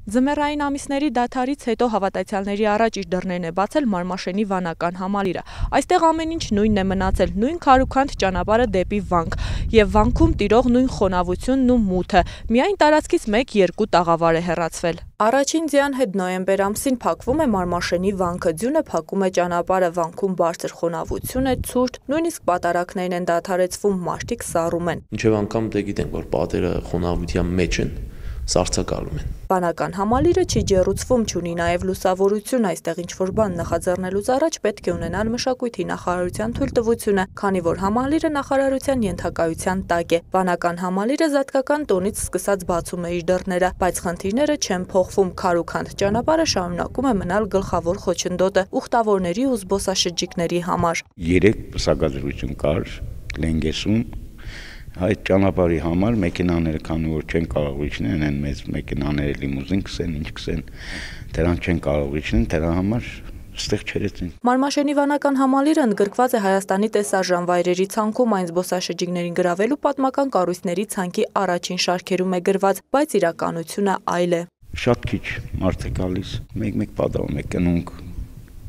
Ձմեռային ամիսների դադարից հետո հավատացյալների առաջ իր դռներն է բացել Մարմաշենի վանական համալիրը։ Այստեղ ամեն ինչ նույնն է մնացել, նույն քարուքանդ ճանապարհը դեպի վանք եւ վանքում տիրող նույն խոնավությունն ու մութը։ Միայն տարածքից 1-2 տաղավար է հեռացվել։ Առաջին ձյան հետ նոյեմբեր ամսին փակվում է Մարմաշենի վանքը, ձյունը փակում է ճանապարհը, վանքում բարձր խոնավություն է, ցուրտ, նույնիսկ պատարակներն են դադարեցվում, մարդիկ սառում են։ Մինչև անգամ դե գիտենք, որ պատերը խոնավության մեջ են, սառցակալում են։ Վանական համալիրը չի ջեռուցվում, չունի նաև լուսավորություն, այստեղ ինչ-որ բան նախաձեռնելուց առաջ պետք է ունենալ մշակույթի նախարարության թույլտվությունը, քանի որ համալիրը նախարարության ենթակայության տակ է։ Վանական համալիրը զատկական տոնից սկսած բացում է իր դռները, բայց խնդիրները չեն փոխվում, քարուքանդ ճանապարհը շարունակում է մնալ գլխավոր խոչընդոտը ուխտավորների ու զբոսաշրջիկների համար։ 3 պսակադրություն կար Լենգեսում։ Այդ ճանապարհի համար մեքենաները, քանի որ չեն կարող իջնել, են մեծ մեքենաները լիմուզին կսեն, ինչ կսեն, դրանք չեն կարող իջնել, դրա համար ստեղ չերեցին։ Մարմաշենի վանական համալիրը ընդգրկված է Հայաստանի տեսարժան վայրերի ցանկում, այն զբոսաշրջիկներին գրավելու պատմական կառույցների ցանկի առաջին շարքերում է գրված, բայց իրականությունը այլ է։ Շատ քիչ մարդ է գալիս, մեկ պատահում է կնունք,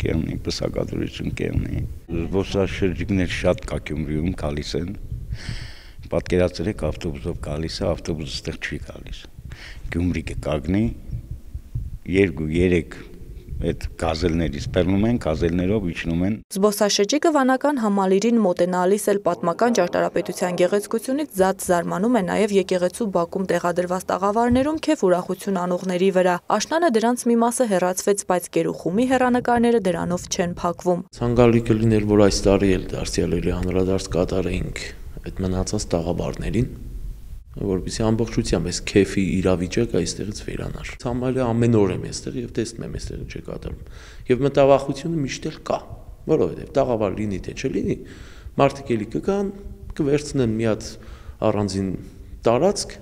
կերնի, պսակադրություն կերնի։ Զբոսաշրջիկներ շատ կա Գյումրիում գալիս են։ Պատկերացրեք ավտոբուսով գալիս է, ավտոբուսը ստեղ չի գալիս։ Գյումրի կկանգնի, 2-3 այդ գազելներից բռնում են, գազելներով իջնում են։ Զբոսաշրջիկը վանական համալիրին մոտենալիս էլ պատմական ճարտարապետության գեղեցկությունից զատ զարմանում է նաև եկեղեցու բակում տեղադրված տաղավարներում քեֆ ուրախություն անողների վրա։ Աշնանը դրանց մի մասը հեռացվեց, բայց գերուխումի հեռանկարները դրանով չեն փակվում։ Ցանկալի կլիներ, որ այս տարի էլ դարձյալների անդրադարձ կատարեինք այդ մնացած տաղավարներին, որպեսզի ամբողջությամբ այս քեֆի իրավիճակը այստեղից վերանար։ Ցամալը ամեն օր եմ այստեղ եւ տեսնում եմ այստեղ ինչ է կատարում։ Եվ մտավախությունը միշտ էլ կա, որովհետեւ տաղավար լինի թե չլինի, մարդիկ էլի կգան, կվերցնեն մի հատ առանձին տարածք,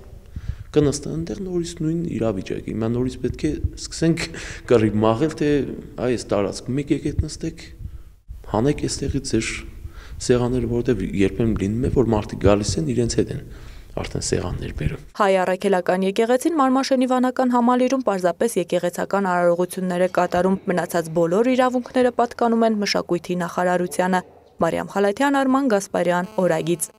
կնստեն այնտեղ նորից նույն իրավիճակը։ Հիմա նորից պետք է սկսենք կռիվ մաղել, թե այս տարածքում մեկ եկեք նստեք, հանեք այստեղից ձեր սեղանները, որովհետեւ երբեմն լինում է, որ մարդիկ գալիս են իրենց հետ են արդեն սեղաններ բերում։ Հայ առաքելական եկեղեցին Մարմաշենի վանական համալիրում պարզապես եկեղեցական արարողություններ է կատարում, մնացած բոլոր իրավունքները պատկանում են մշակույթի նախարարությանը։ Մարիամ Խալաթյան, Արման Գասպարյան, Օրագիծ։